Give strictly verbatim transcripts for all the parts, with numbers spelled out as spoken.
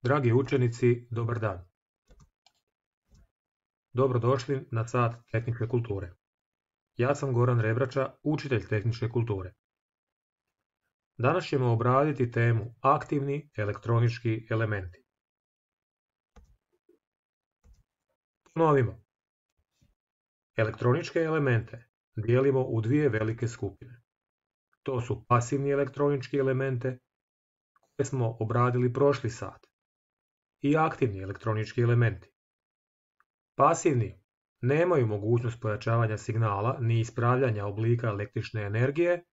Dragi učenici, dobar dan. Dobrodošli na sat tehničke kulture. Ja sam Goran Rebrača, učitelj tehničke kulture. Danas ćemo obraditi temu aktivni elektronički elementi. Ponovimo. Elektroničke elemente dijelimo u dvije velike skupine. To su pasivni elektronički elemente koje smo obradili prošli sat i aktivni elektronički elementi. Pasivni nemaju mogućnost pojačavanja signala ni ispravljanja oblika električne energije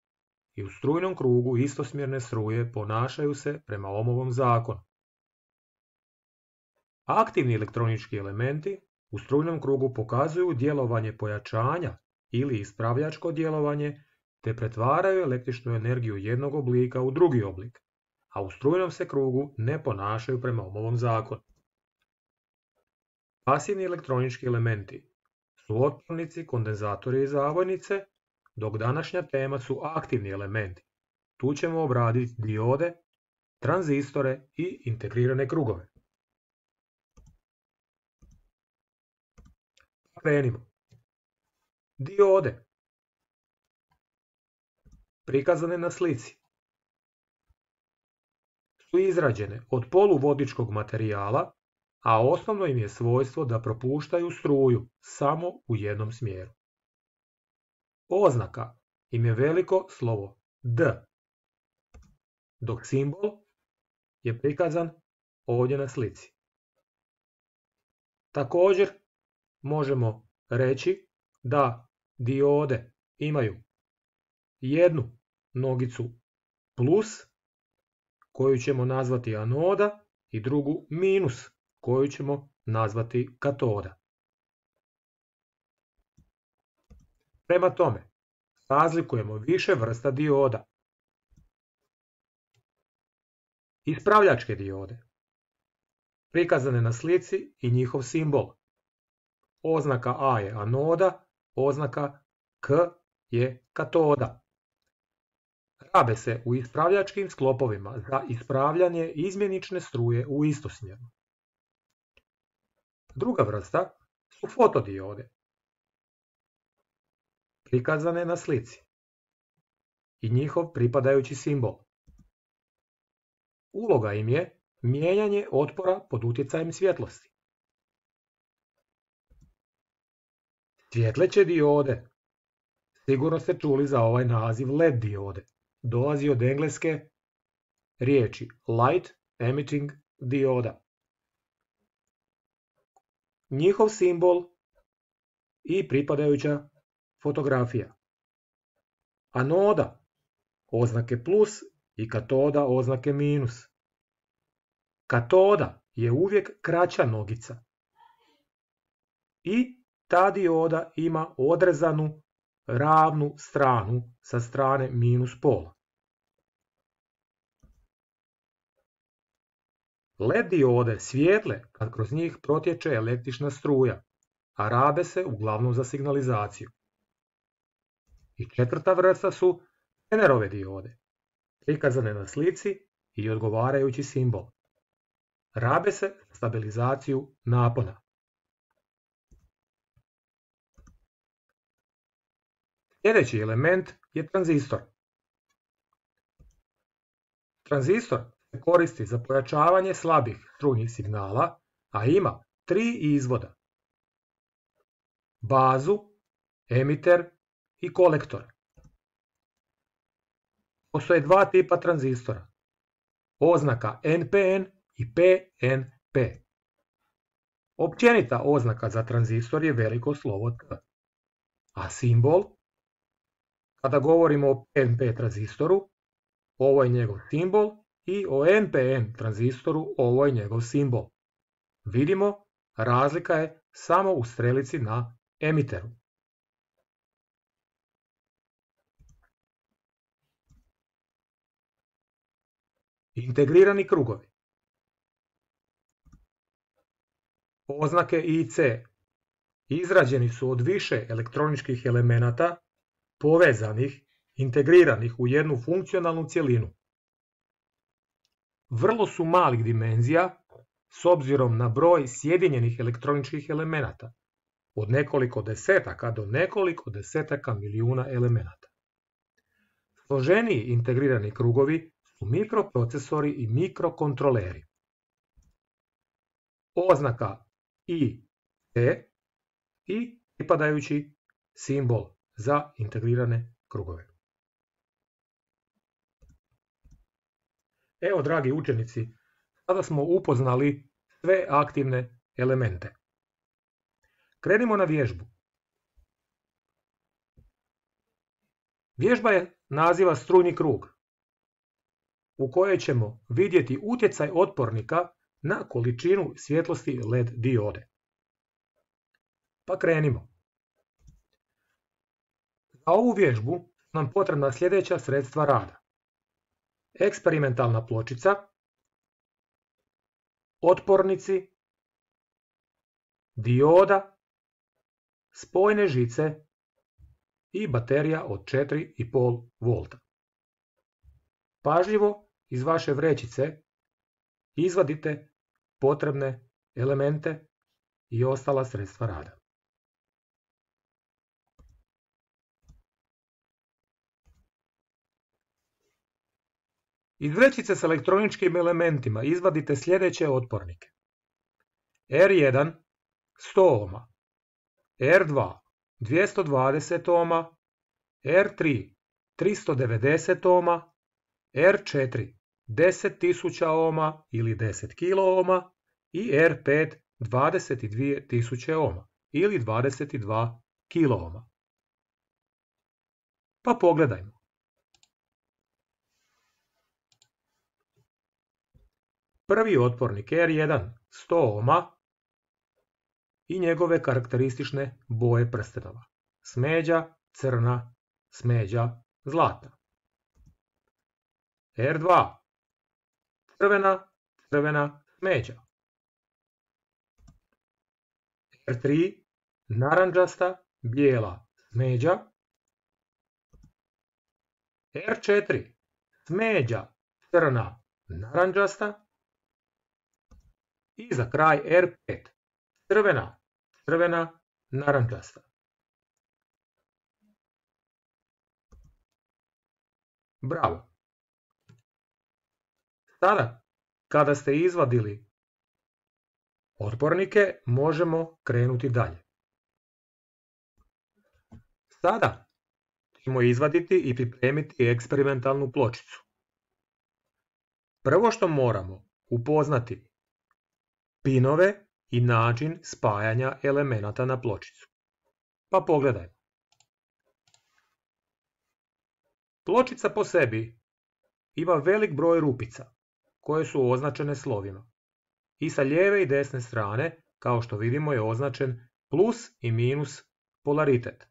i u strujnom krugu istosmjerne struje ponašaju se prema Ohmovom zakonu. Aktivni elektronički elementi u strujnom krugu pokazuju djelovanje pojačanja ili ispravljačko djelovanje te pretvaraju električnu energiju jednog oblika u drugi oblik, a u strujnom se krugu ne ponašaju prema Ohmovom zakonu. Pasivni elektronički elementi su otpornici, kondenzatori i zavojnice, dok današnja tema su aktivni elementi. Tu ćemo obraditi diode, tranzistore i integrirane krugove. Krenimo. Diode prikazane na slici su izrađene od poluvodičkog materijala, a osnovno im je svojstvo da propuštaju struju samo u jednom smjeru. Oznaka im je veliko slovo D, dok simbol je prikazan ovdje na slici. Također možemo reći da diode imaju jednu nogicu plus, koju ćemo nazvati anoda, i drugu minus, koju ćemo nazvati katoda. Prema tome, razlikujemo više vrsta dioda. Ispravljačke diode, prikazane na slici i njihov simbol. Oznaka A je anoda, oznaka K je katoda. Rabe se u ispravljačkim sklopovima za ispravljanje izmjenične struje u istosmjeru. Druga vrsta su fotodiode, prikazane na slici i njihov pripadajući simbol. Uloga im je mijenjanje otpora pod utjecajem svjetlosti. Svjetleće diode, sigurno ste čuli za ovaj naziv L E D diode, dolazi od engleske riječi Light Emitting Dioda. Njihov simbol i pripadajuća fotografija. Anoda, oznake plus, i katoda, oznake minus. Katoda je uvijek kraća nogica i ta dioda ima odrezanu ravnu stranu sa strane minus pola. L E D diode svijetle kad kroz njih protječe električna struja, a rabe se uglavnom za signalizaciju. I četvrta vrsta su Zenerove diode, prikazane na slici i odgovarajući simbol. Rabe se za stabilizaciju napona. Sljedeći element je tranzistor. Tranzistor se koristi za pojačavanje slabih strujnih signala, a ima tri izvoda: bazu, emiter i kolektor. Postoje dva tipa tranzistora, oznaka N P N i P N P. Općenita oznaka za tranzistor je veliko slovo T, a simbol, kada govorimo o P N P tranzistoru, ovo je njegov simbol, i o N P N tranzistoru, ovo je njegov simbol. Vidimo, razlika je samo u strelici na emiteru. Integrirani krugovi. Oznake I C izrađeni su od više elektroničkih elemenata povezanih, integriranih u jednu funkcionalnu cjelinu. Vrlo su malih dimenzija s obzirom na broj sjedinjenih elektroničkih elemenata, od nekoliko desetaka do nekoliko desetaka milijuna elemenata. Složeniji integrirani krugovi su mikroprocesori i mikrokontroleri. Oznaka I C i pripadajući simbol za integrirane krugove. Evo, dragi učenici, sada smo upoznali sve aktivne elemente. Krenimo na vježbu. Vježba je naziva strujni krug, u kojoj ćemo vidjeti utjecaj otpornika na količinu svjetlosti L E D diode. Pa krenimo. Za ovu vježbu nam potrebna sljedeća sredstva rada. Eksperimentalna pločica, otpornici, dioda, spojne žice i baterija od četiri i pol volta. Pažljivo iz vaše vrećice izvadite potrebne elemente i ostala sredstva rada. Iz vrećice s elektroničkim elementima izvadite sljedeće otpornike. R jedan sto ohma, R dva dvjesto dvadeset ohma, R tri tristo devedeset ohma, R četiri deset tisuća ohma ili deset kilo ohma i R pet dvadeset dvije tisuće ohma ili dvadeset dva kilo ohma. Pa pogledajmo. Prvi otpornik R jedan sto ohma i njegove karakteristične boje prstenova. Smeđa, crna, smeđa, zlatna. R dva crvena, crvena, smeđa. R tri narandžasta, bijela, smeđa. R četiri smeđa, crna, narandžasta. I za kraj R pet crvena, crvena, narandžasta. Bravo! Sada, kada ste izvadili otpornike, možemo krenuti dalje. Sada ćemo izvaditi i pripremiti eksperimentalnu pločicu. Prvo što moramo upoznati pinove i način spajanja elemenata na pločicu. Pa pogledajmo. Pločica po sebi ima velik broj rupica koje su označene slovima. I sa lijeve i desne strane, kao što vidimo, je označen plus i minus polaritet.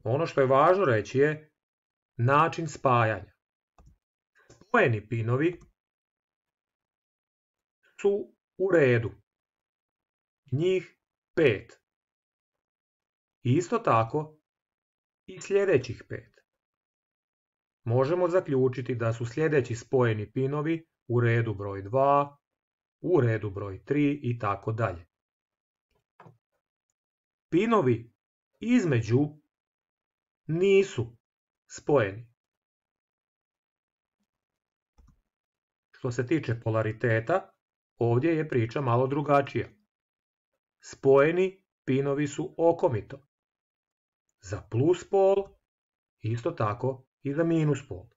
Ono što je važno reći je način spajanja. Spojeni pinovi su u redu. Njih pet. Isto tako i sljedećih pet. Možemo zaključiti da su sljedeći spojeni pinovi u redu broj dva, u redu broj tri i tako dalje. Pinovi između nisu spojeni. Što se tiče polariteta, ovdje je priča malo drugačija. Spojeni pinovi su okomito. Za plus pol, isto tako i za minus pol.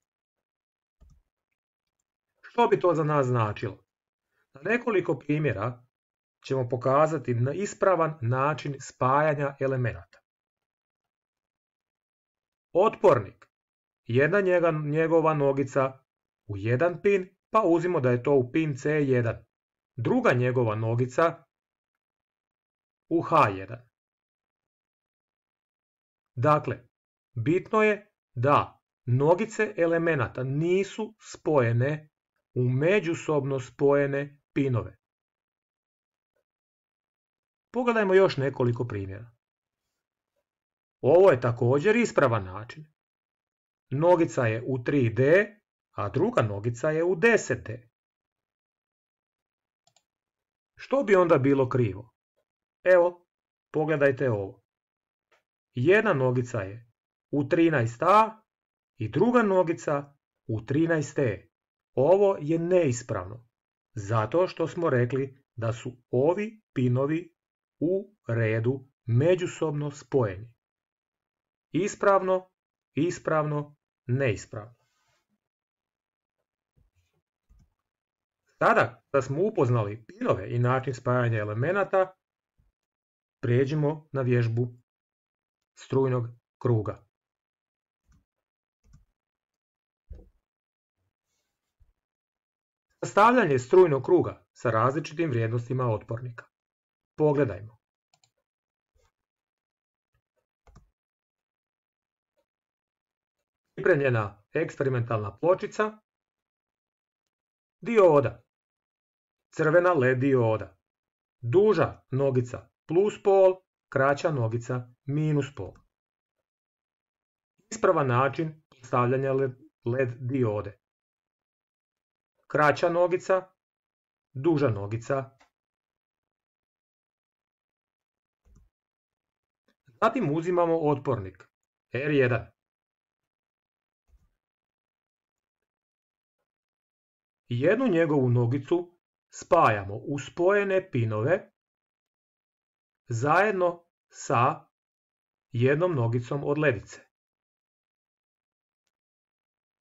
Što bi to za nas značilo? Na nekoliko primjera ćemo pokazati na ispravan način spajanja elemenata. Otpornik, jedna njegova nogica u jedan pin, pa uzimo da je to u pin C jedan. Druga njegova nogica u H jedan. Dakle, bitno je da nogice elemenata nisu spojene u međusobno spojene pinove. Pogledajmo još nekoliko primjera. Ovo je također ispravan način. Nogica je u tri D, a druga nogica je u deset D. Što bi onda bilo krivo? Evo, pogledajte ovo. Jedna nogica je u trinaest a i druga nogica u trinaest e. Ovo je neispravno, zato što smo rekli da su ovi pinovi u redu međusobno spojeni. Ispravno, ispravno, neispravno. Sada da smo upoznali pinove i način spajanja elemenata, prijeđimo na vježbu strujnog kruga. Sastavljanje strujnog kruga sa različitim vrijednostima otpornika. Pogledajmo. Pripremljena eksperimentalna pločica, dioda, crvena led dioda, duža nogica plus pol, kraća nogica minus pol. Ispravan način postavljanja led diode. Kraća nogica, duža nogica. Zatim uzimamo otpornik er jedan. Jednu njegovu nogicu spajamo u spojene pinove zajedno sa jednom nogicom od ledice.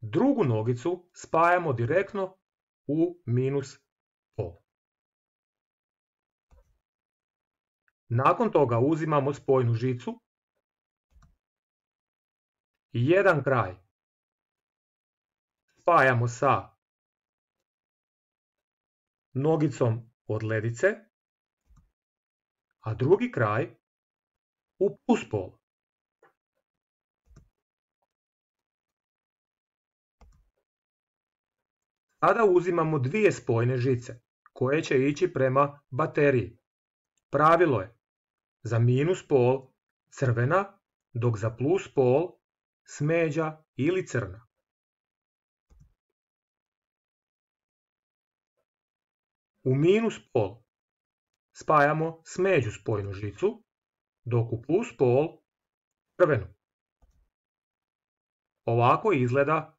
Drugu nogicu spajamo direktno u minus pol. Nakon toga uzimamo spojnu žicu i jedan kraj spajamo sa nogicom od ledice, a drugi kraj u plus pol. Sada uzimamo dvije spojne žice koje će ići prema bateriji. Pravilo je za minus pol crvena, dok za plus pol smeđa ili crna. U minus pol spajamo smeđu spojnu žicu, dok u plus pol crvenu. Ovako izgleda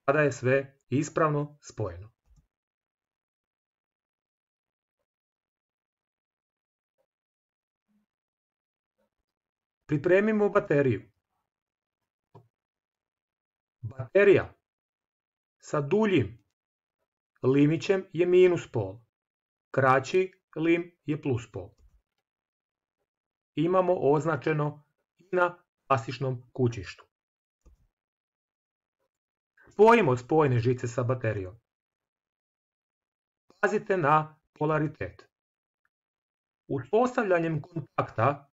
kada je sve ispravno spojeno. Pripremimo bateriju. Baterija sa duljim limićem je minus pol, kraći lim je plus pol. Imamo označeno i na klasičnom kućištu. Spojimo spojne žice sa baterijom. Pazite na polaritet. Uspostavljanjem kontakta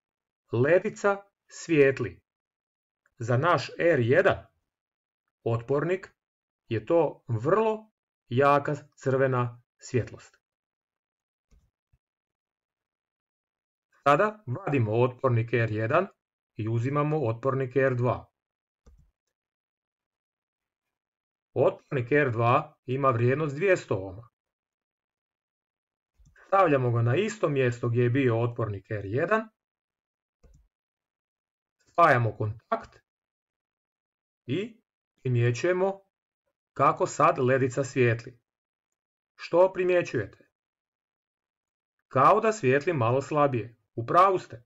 ledica svijetli. Za naš er jedan otpornik je to vrlo jaka crvena svjetlost. Sada vadimo otpornik er jedan i uzimamo otpornik er dva. Otpornik er dva ima vrijednost dvjesto ohma. Stavljamo ga na isto mjesto gdje je bio otpornik er jedan. Spajamo kontakt i primjećujemo kako sad ledica svijetli. Što primjećujete? Kao da svijetli malo slabije. U pravu ste.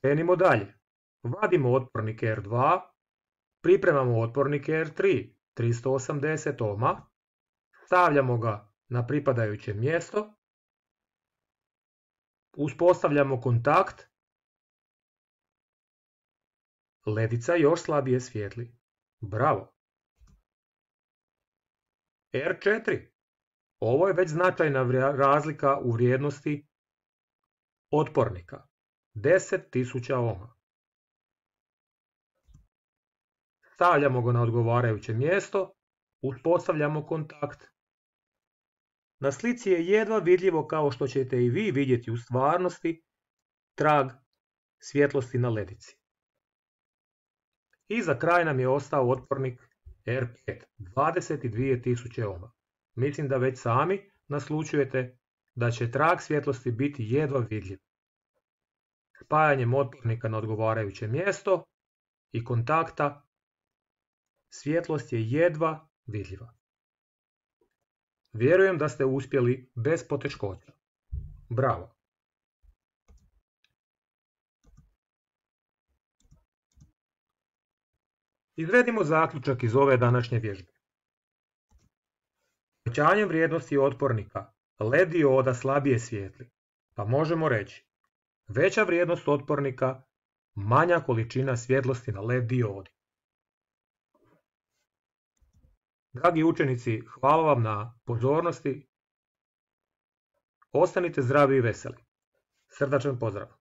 Krenimo dalje. Vadimo otpornik er dva, pripremamo otpornik er tri, tristo osamdeset ohma, stavljamo ga na pripadajuće mjesto, uspostavljamo kontakt, ledica još slabije svijetli. Bravo! er četiri. Ovo je već značajna razlika u vrijednosti otpornika. deset tisuća ohma. Stavljamo ga na odgovarajuće mjesto, uspostavljamo kontakt. Na slici je jedva vidljivo, kao što ćete i vi vidjeti u stvarnosti, trag svjetlosti na ledici. I za kraj nam je ostao otpornik er pet, dvadeset dvije tisuće ohma. Mislim da već sami naslućujete da će trag svjetlosti biti jedva vidljiv. Spajanjem otpornika na odgovarajuće mjesto i kontakta svjetlost je jedva vidljiva. Vjerujem da ste uspjeli bez poteškoća. Bravo! Izvedimo zaključak iz ove današnje vježbe. Povećanjem vrijednosti otpornika L E D dioda slabije svijetli, pa možemo reći veća vrijednost otpornika, manja količina svjetlosti na L E D diodi. Dragi učenici, hvala vam na pozornosti. Ostanite zdravi i veseli. Srdačan pozdrav!